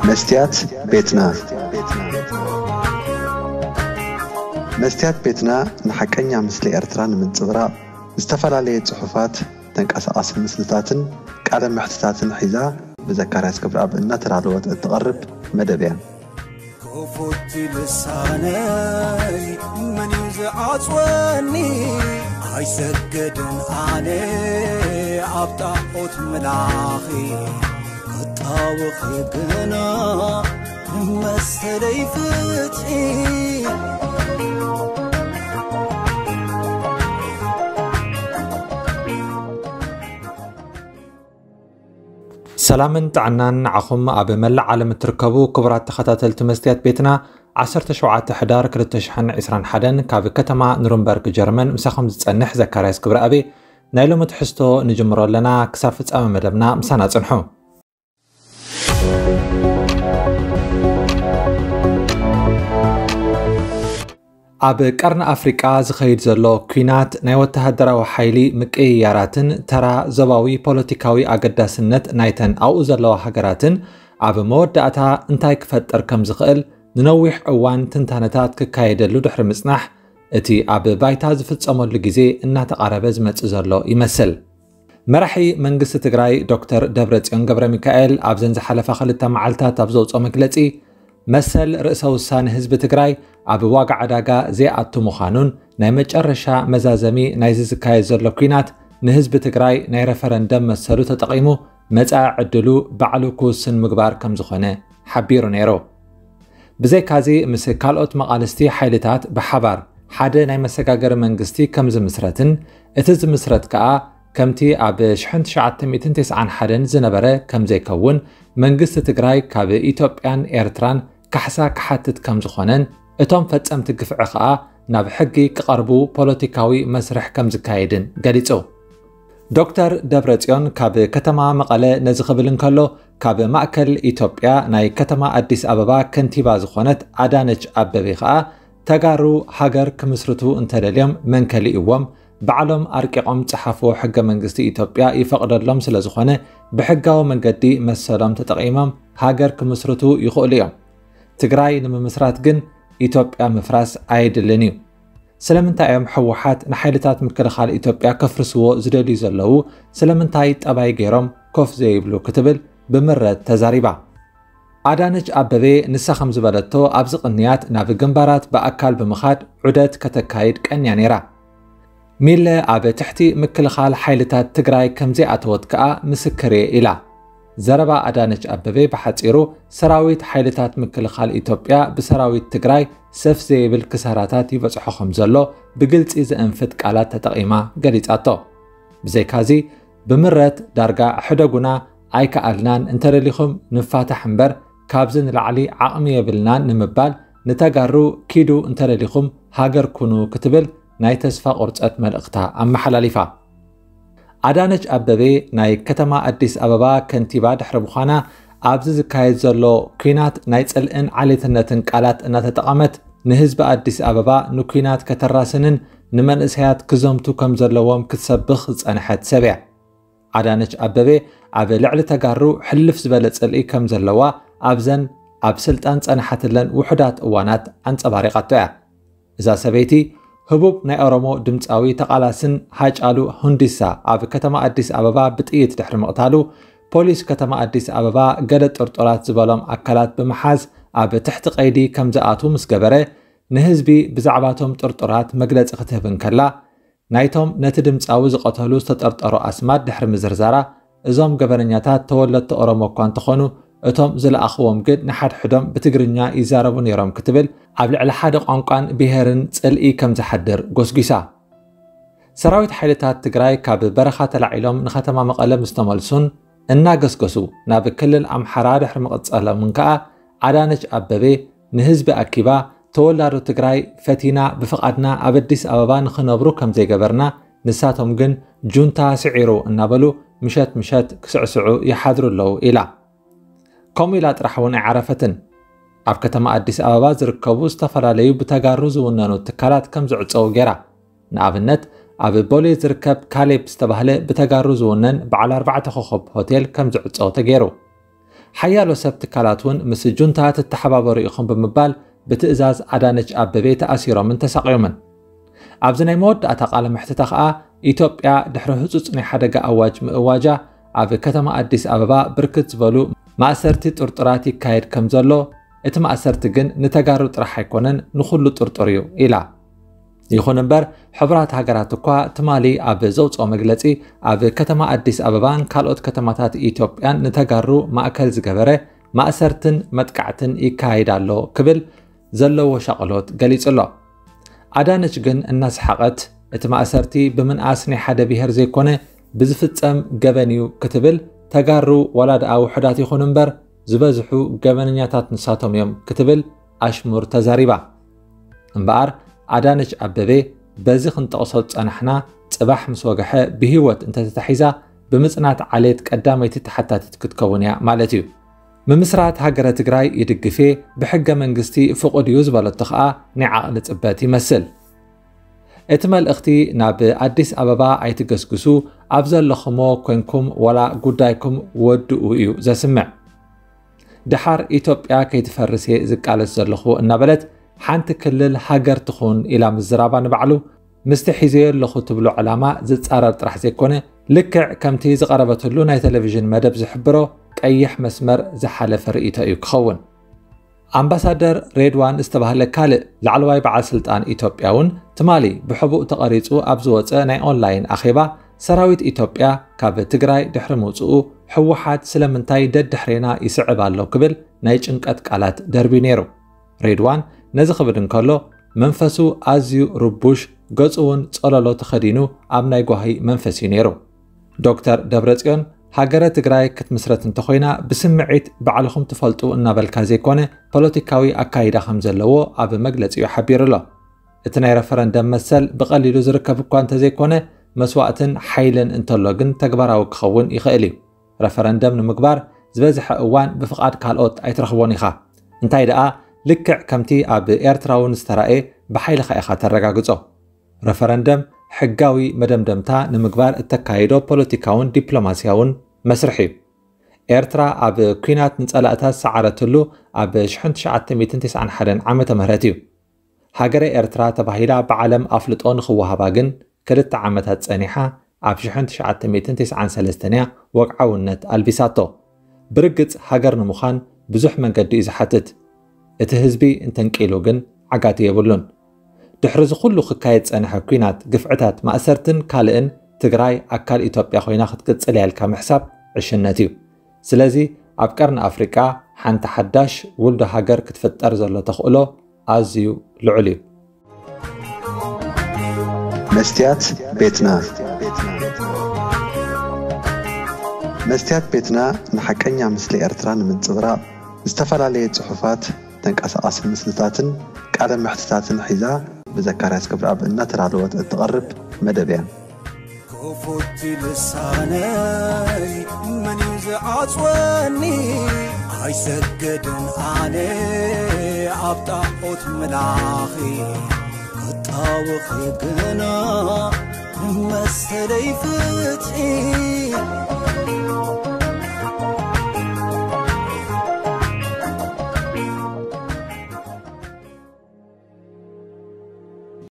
መስትያት ቤትና። መስትያት ቤትና ንሓቀኛ ምስሊ ኤርትራ ንምንጽብራቕ ዝተፈላለየ ጽሑፋት፣ ተንቀሳቓሲ ምስልታትን ቃለ መሕትታትን ሒዛ ብዘካርያስ ክብረኣብ እናተዳለወት እትቐርብ መደብ እያ። ክፉት ልሳነይ መን እዩ ዝዓጽወኒ? ኣይሰግድን ኣነ ኣብ ጣዖት ምላኺ፣ ክጣወኺ ግና መሰለይ ፍትሒ። ሰላምን ጥዕናን ንዓኹም ኣብ መላእ ዓለም እትርከቡ ክቡራት ተኸታተልቲ መስትያት ቤትና። ዓሰርተ ሸውዓተ ሕዳር ክልተ ሽሕን ዕስራን ሓደን ካብ ከተማ ኑርንበርግ ጀርመን ምሳኹም ዝጸንሕ ዘካርያስ ክብረኣብ። ናይ ሎሚ ትሕዝቶ ንጅምሮ ኣለና። ክሳብ ፍጻመ መደብና ምሳና ጽንሑ። ኣብ ቀርኒ ኣፍሪቃ ዝኸይድ ዘሎ ኲናት ናይ ወተሃደራዊ ሓይሊ ምቅይያራትን ተራ ዞባዊ ፖለቲካዊ ኣገዳስነት ናይተን ኣብኡ ዘለዋ ሃገራትን ኣብ መወዳእታ እንታይ ክፈጥር ከም ዝኽእል ንነዊሕ እዋን ትንታነታት ክካየደሉ ድሕሪ ምጽናሕ፣ እቲ ኣብ ባይታ ዝፍጸመሉ ግዜ እናተቓረበ ዝመጽእ ዘሎ ይመስል። መራሒ መንግስቲ ትግራይ ዶክተር ደብረጽዮን ገብረ ሚካኤል ኣብዘን ዝሓለፋ ክልተ መዓልታት ኣብ ዘውፅኦ መግለጺ፣ መሰል ርእሰ ውሳነ ህዝቢ ትግራይ ኣብ ዋጋ ዕዳጋ ዘይኣቱ ምዃኑን ናይ መጨረሻ መዛዘሚ ናይዚ ዝካየድ ዘሎ ኲናት ንህዝቢ ትግራይ ናይ ረፈረንደም መሰሉ ተጠቒሙ መጻኢ ዕድሉ ባዕሉ ክውስን ምግባር ከም ዝኾነ ሓቢሩ ነይሩ። ብዘይካዚ፣ ምስ ካልኦት መቓልስቲ ሓይልታት ብሓባር ሓደ ናይ መሰጋገሪ መንግስቲ ከም ዝምስረትን፣ እቲ ዝምስረት ከኣ ከምቲ ኣብ ሽሕን ትሽዓተ ሚእትን ተስዓን ሓደን ዝነበረ ከም ዘይከውን፣ መንግስቲ ትግራይ ካብ ኢትዮጵያን ኤርትራን ካሕሳ ክሓትት ከም ዝኾነን፣ እቶም ፈጸምቲ ግፍዒ ከኣ ናብ ሕጊ ክቐርቡ ፖለቲካዊ መስርሕ ከም ዝካየድን ገሊጹ። ዶክተር ደብረጽዮን ካብ ከተማ መቐለ ነዚ ክብል እንከሎ፣ ካብ ማእከል ኢትዮጵያ ናይ ከተማ ኣዲስ ኣበባ ከንቲባ ዝኾነት ኣዳነች ኣበቤ ከኣ፣ ተጋሩ ሃገር ክምስርቱ እንተደልዮም መን ከሊእዎም? ባዕሎም ኣርቂቖም ጸሓፍዎ ሕገ መንግስቲ ኢትዮጵያ ይፈቕደሎም ስለ ዝኾነ፣ ብሕጋዊ መንገዲ መሰሎም ተጠቒሞም ሃገር ክምስርቱ ይኽእሉ እዮም። ትግራይ ንምምስራት ግን ኢትዮጵያ ምፍራስ ኣየድልን እዩ። ስለምንታይ እዮም ህወሓት ንሓይልታት ምክልኻል ኢትዮጵያ ከፍርስዎ ዝደልዩ ዘለዉ? ስለምንታይ ጠባይ ገይሮም ኮፍ ዘይብሉ? ክትብል ብምረት ተዛሪባ። ኣዳነች ኣበቤ ንሳ ከም ዝበለቶ፣ ኣብዚ ቅንያት ናብ ግንባራት ብኣካል ብምኻድ ዑደት ከተካይድ ቀንያ ነይራ። ሚለ ኣብ ትሕቲ ምክልኻል ሓይልታት ትግራይ ከም ዘይኣተወት ከኣ ምስክር እየ ኢላ። ዘረባ ኣዳነች ኣበቤ ብሓጺሩ፣ ሰራዊት ሓይልታት ምክልኻል ኢትዮጵያ ብሰራዊት ትግራይ ሰፍ ዘይብል ክሳራታት ይበጽሖ ከም ዘሎ ብግልጺ ዘእንፍት ቃላት ተጠቒማ ገሊጻቶ። ብዘይካዚ፣ ብምረት ዳርጋ ሕደጉና ኣይከኣልናን፣ እንተደሊኹም ንፋታሕ እምበር ካብዚ ንላዕሊ ዓቕሚ የብልናን ንምባል፣ ንተጋሩ ኪዱ እንተደሊኹም ሃገር ኩኑ ክትብል ናይ ተስፋ ቁርጸት መልእኽታ ኣመሓላሊፋ። ኣዳነች ኣበቤ ናይ ከተማ ኣዲስ ኣበባ ከንቲባ ድሕሪ ምዃና፣ ኣብዚ ዝካየድ ዘሎ ኲናት ናይ ጽልእን ዓሌትነትን ቃላት እናተጠቐመት፣ ንህዝቢ ኣዲስ ኣበባ ንኲናት ከተራስንን ንመንእሰያት ክዘምቱ ከም ዘለዎም ክትሰብኽ ዝጸንሐት ሰብ እያ። ኣዳነች ኣበቤ ኣብ ልዕሊ ተጋሩ ሕልፍ ዝበለ ጽልኢ ከም ዘለዋ ኣብዘን ኣብ ስልጣን ጸናሓትለን ውሑዳት እዋናት ኣንጸባሪቓቶ እያ። እዛ ሰበይቲ፣ ህቡብ ናይ ኦሮሞ ድምጻዊ ተቓላስን ሃጫሉ ሁንዲሳ ኣብ ከተማ ኣዲስ ኣበባ ብጥይት ድሕሪ ምቕታሉ፣ ፖሊስ ከተማ ኣዲስ ኣበባ ገለ ጥርጡራት ዝበሎም ኣካላት ብምሓዝ ኣብ ትሕቲ ቀይዲ ከም ዝኣትዉ ምስ ገበረ፣ ንህዝቢ ብዛዕባቶም ጥርጡራት መግለጺ ክትህብ እንከላ፣ ናይቶም ነቲ ድምጻዊ ዝቐተሉ ዝተጠርጠሩ ኣስማት ድሕሪ ምዝርዛራ፣ እዞም ገበነኛታት ተወለድቲ ኦሮሞ እኳ እንተኾኑ፣ እቶም ዝለኣኽዎም ግን ንሓድሕዶም ብትግርኛ ይዛረቡ ነይሮም ክትብል፣ ኣብ ልዕሊ ሓደ ቋንቋን ብሄርን ጽልኢ ከም ዝሓድር ጎስጒሳ። ሰራዊት ሓይልታት ትግራይ ካብ በረኻ ተላዒሎም ንከተማ መቐለ ምስ ተመልሱን እናገስገሱ ናብ ክልል ኣምሓራ ድሕሪ ምቕጻሎምን ከኣ፣ ኣዳነች ኣበቤ ንህዝቢ ኣኪባ፣ ተወላዶ ትግራይ ፈቲና ብፍቓድና ኣብ ኣዲስ ኣበባ ንኽነብሩ ከም ዘይገበርና፣ ንሳቶም ግን ጁንታ ስዒሩ እናበሉ ምሸት ምሸት ክስዕስዑ ይሓድሩ ኣለዉ ኢላ። ከምኡ ኢላ ጥራሕ እውን ኣይዓረፈትን። ኣብ ከተማ ኣዲስ ኣበባ ዝርከቡ ዝተፈላለዩ ብተጋሩ ዝውነኑ ትካላት ከም ዝዕጸዉ ገይራ። ንኣብነት፣ ኣብ ቦሌ ዝርከብ ካሌብ ዝተባህለ ብተጋሩ ዝውነን በዓል ኣርባዕተ ኮኸብ ሆቴል ከም ዝዕጸው ተገይሩ። ሓያሎ ሰብ ትካላት እውን ምስ ጁንታ ትተሓባበሩ ኢኹም ብምባል ብትእዛዝ ኣዳነች ኣበቤ ተኣሲሮምን ተሳቕዮምን። ኣብዚ ናይ መወዳእታ ቃለ መሕትታ ከኣ ኢትዮጵያ ድሕሪ ህጹጽ ናይ ሓደጋ ኣዋጅ ምእዋጃ ኣብ ከተማ ኣዲስ ኣበባ ብርክት ዝበሉ ማእሰርቲ ጥርጡራት ይካየድ ከም ዘሎ፣ እቲ ማእሰርቲ ግን ንተጋሩ ጥራሕ ኣይኮነን ንኹሉ ጥርጡር እዩ ኢላ። ይኹን እምበር ሕቡራት ሃገራት እኳ ትማሊ ኣብ ዘውፅኦ መግለፂ ኣብ ከተማ ኣዲስ ኣበባን ካልኦት ከተማታት ኢትዮጵያን ንተጋሩ ማእከል ዝገበረ ማእሰርትን መጥቃዕትን ይካየድ ኣሎ ክብል ዘለዎ ሻቕሎት ገሊጹ ኣሎ። ኣዳነች ግን እናሰሓቐት እቲ ማእሰርቲ ብምንኣስ ናይ ሓደ ብሄር ዘይኮነ ብዝፍጸም ገበን እዩ ክትብል፣ ተጋሩ ዋላ ደኣ ውሑዳት ይኹን እምበር ዝበዝሑ ገበነኛታት ንሳቶም እዮም ክትብል ኣሽሙር ተዛሪባ። እምበኣር ኣዳነች ኣበቤ በዚ ክንጠቕሶ ዝጸናሕና ጽባሕ ምስ ወግሐ ብህይወት እንተተታሒዛ ብምጽናት ዓሌት ቀዳመይቲ ተሓታቲት ክትከውን እያ ማለት እዩ። ምምስራት ሃገረ ትግራይ ይድግፍ እየ፣ ብሕገ መንግስቲ ፍቑድ እዩ ዝበለቶ ኸኣ ናይ ዓቕሊ ጽበት ይመስል። እቲ መልእኽቲ ናብ ኣዲስ ኣበባ ኣይትገስግሱ፣ ኣብ ዘለኹሞ ኮንኩም ዋላ ጉዳይኩም ወድኡ እዩ ዘስምዕ። ደሓር ኢትዮጵያ ከይትፈርስ እየ ዝቃለስ ዘለኹ እናበለት ሓንቲ ክልል ሃገር ትኹን ኢላ ምዝራባ ንባዕሉ ምስቲ ሒዘዮ ኣለኹ ትብሎ ዕላማ ዝጻረር ጥራሕ ዘይኮነ፣ ልክዕ ከምቲ ዝቐረበትሉ ናይ ቴሌቪዥን መደብ ዝሕብሮ ቀይሕ መስመር ዝሓለፈ ርእይቶ እዩ ክኸውን። ኣምባሳደር ሬድዋን ዝተባህለ ካልእ ላዕለዋይ በዓል ስልጣን ኢትዮጵያ እውን ትማሊ ብሕቡእ ተቐሪጹ ኣብ ዝወጸ ናይ ኦንላይን ኣኼባ፣ ሰራዊት ኢትዮጵያ ካብ ትግራይ ድሕሪ ምውጽኡ ህወሓት ስለምንታይ ደድሕሬና ይስዕብ ኣሎ ክብል ናይ ጭንቀት ቃላት ደርብዩ ነይሩ። ሬድዋን ነዚ ክብል እንከሎ መንፈሱ ኣዝዩ ርቡሽ፣ ገጹ እውን ጸለሎ ተኸዲኑ ኣብ ናይ ጓሂ መንፈስ እዩ ነይሩ። ዶክተር ደብረጽዮን ሃገረ ትግራይ ክትምስረት እንተኾይና ብስምዒት ባዕልኹም ትፈልጡ እናበልካ ዘይኮነ ፖለቲካዊ ኣካይዳ ከም ዘለዎ ኣብ መግለጺኡ ሓቢሩ ኣሎ። እቲ ናይ ረፈረንደም መሰል ብቐሊሉ ዝርከብ እኳ እንተዘይኮነ መስዋእትን ሓይልን እንተሎ ግን ተግባራዊ ክኸውን ይኽእል እዩ። ረፈረንደም ንምግባር ዝበዝሐ እዋን ብፍቓድ ካልኦት ኣይትረኽቦን ኢኻ። እንታይ ደኣ ልክዕ ከምቲ ኣብ ኤርትራ እውን ዝተራእየ ብሓይልኻ ኢኻ ተረጋግጾ። ረፈረንደም ሕጋዊ መደምደምታ ንምግባር እተካይዶ ፖለቲካውን ዲፕሎማስያውን መስርሕ እዩ። ኤርትራ ኣብ ኲናት ንጸላእታ ዝሰዓረትሉ ኣብ ሽሕን ትሽዓተ ሚእትን ተስዓን ሓደን ዓመተ ምህረት እዩ። ሃገረ ኤርትራ ተባሂላ ብዓለም ኣፍልጦ ንኽወሃባ ግን ክልተ ዓመታት ጸኒሓ ኣብ ሽሕን ትሽዓተ ሚእትን ተስዓን ሰለስተን እያ ወግዓውነት ኣልቢሳቶ። ብርግጽ ሃገር ንምዃን ብዙሕ መንገዲ እዩ ዝሓትት። እቲ ህዝቢ እንተንቂሉ ግን ዓጋቲ የብሉን። ድሕሪ እዚ ኩሉ ክካየድ ጸንሐ ኲናት፣ ግፍዕታት፣ ማእሰርትን ካልእን ትግራይ ኣካል ኢትዮጵያ ኮይና ክትቅጽል እያ ኢልካ ምሕሳብ ዕሽነት እዩ። ስለዚ ኣብ ቀርኒ ኣፍሪቃ ሓንቲ ሓዳሽ ውልዶ ሃገር ክትፍጠር ዘሎ ተኽእሎ ኣዝዩ ልዑል እዩ። መስትያት ቤትና። መስትያት ቤትና ንሓቀኛ ምስሊ ኤርትራ ንምንጽብራቕ ዝተፈላለየ ጽሑፋት፣ ተንቀሳቓሲ ምስልታትን ቃለ መሕትታትን ሒዛ ብዘካርያስ ክብረኣብ እናተዳለወት እትቐርብ መደብ እያ። ክፉት ልሳነይ መን እዩ ዝዓጽወኒ? ኣይሰገድን ኣነ ኣብ ጣዖት ምላኺ ክጣወኺ ግና መሰለይ ፍትሒ